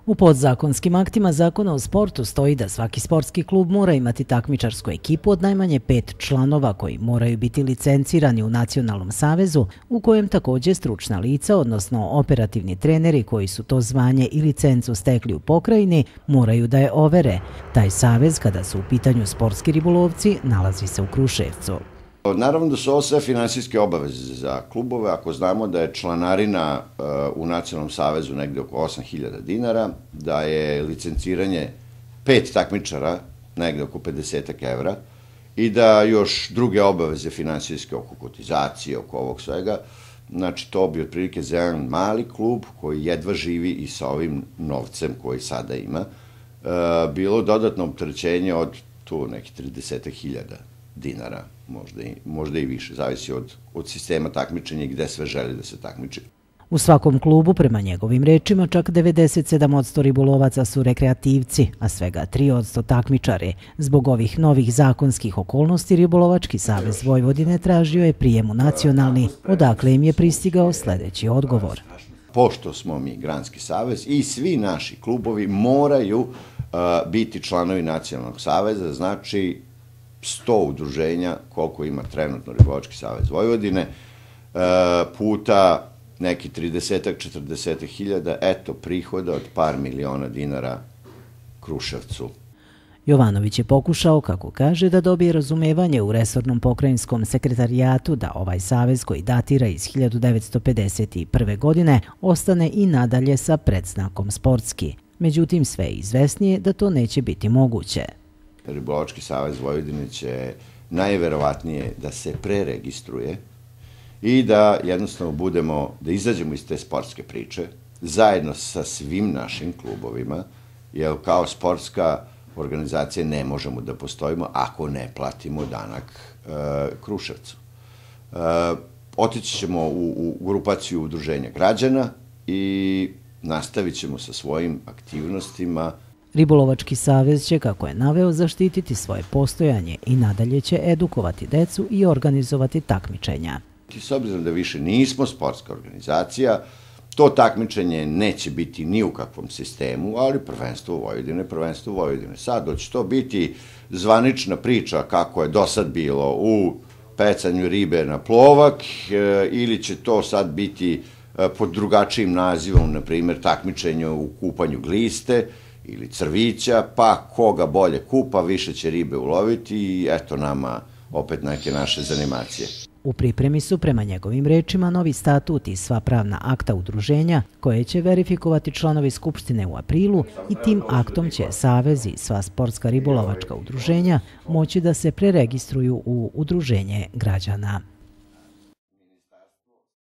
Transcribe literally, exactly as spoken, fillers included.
U podzakonskim aktima Zakona o sportu stoji da svaki sportski klub mora imati takmičarsku ekipu od najmanje pet članova koji moraju biti licencirani u Nacionalnom savezu, u kojem također stručna lica, odnosno operativni treneri koji su to zvanje i licencu stekli u pokrajini, moraju da je overe. Taj savez, kada su u pitanju sportski ribolovci, nalazi se u Kruševcu. Naravno da su ovo sve finansijske obaveze za klubove. Ako znamo da je članarina u Nacionalnom savezu negde oko osam hiljada dinara, da je licenciranje pet takmičara negde oko pedeset evra i da još druge obaveze finansijske oko kotizacije, oko ovog svega, znači to bi otprilike za jedan mali klub koji jedva živi i sa ovim novcem koji sada ima, bilo dodatno opterećenje od tu nekih trideset hiljada dinara, možda i, možda i više, zavisi od, od sistema takmičenja i gde sve želi da se takmiči. U svakom klubu, prema njegovim rečima, čak devedeset sedam posto ribolovaca su rekreativci, a svega tri posto takmičari. Zbog ovih novih zakonskih okolnosti, Ribolovački savez Vojvodine tražio je prijem u nacionalni, odakle im je pristigao sljedeći odgovor. Pošto smo mi Granski savez i svi naši klubovi moraju uh, biti članovi Nacionalnog saveza, znači sto udruženja, koliko ima trenutno Ribolovački savez Vojvodine, puta neki trideset četrdeset hiljada, eto prihoda od par miliona dinara Kruševcu. Jovanović je pokušao, kako kaže, da dobije razumevanje u resornom pokrajinskom sekretarijatu da ovaj savez koji datira iz hiljadu devetsto pedeset prve. godine ostane i nadalje sa predznakom sportski. Međutim, sve je izvesnije da to neće biti moguće. Ribolovački savez Vojvodine će najverovatnije da se preregistruje i da jednostavno budemo, da izađemo iz te sportske priče zajedno sa svim našim klubovima, jer kao sportska organizacija ne možemo da postojimo ako ne platimo danak e, Kruševcu. E, otići ćemo u, u grupaciju udruženja građana i nastavit ćemo sa svojim aktivnostima. Ribolovački savez će, kako je naveo, zaštititi svoje postojanje i nadalje će edukovati decu i organizovati takmičenja. S obzirom da više nismo sportska organizacija, to takmičenje neće biti ni u kakvom sistemu, ali prvenstvo Vojvodine, prvenstvo Vojvodine. Sad će to biti zvanična priča kako je do sad bilo u pecanju ribe na plovak ili će to sad biti pod drugačijim nazivom, na primjer takmičenje u kupanju gliste ili crvića, pa koga bolje kupa, više će ribe uloviti i eto nama opet neke naše zanimacije. U pripremi su, prema njegovim rečima, novi statut i sva pravna akta udruženja koje će verifikovati članovi Skupštine u aprilu i tim aktom će savez i sva sportska ribolovačka udruženja moći da se preregistruju u udruženje građana.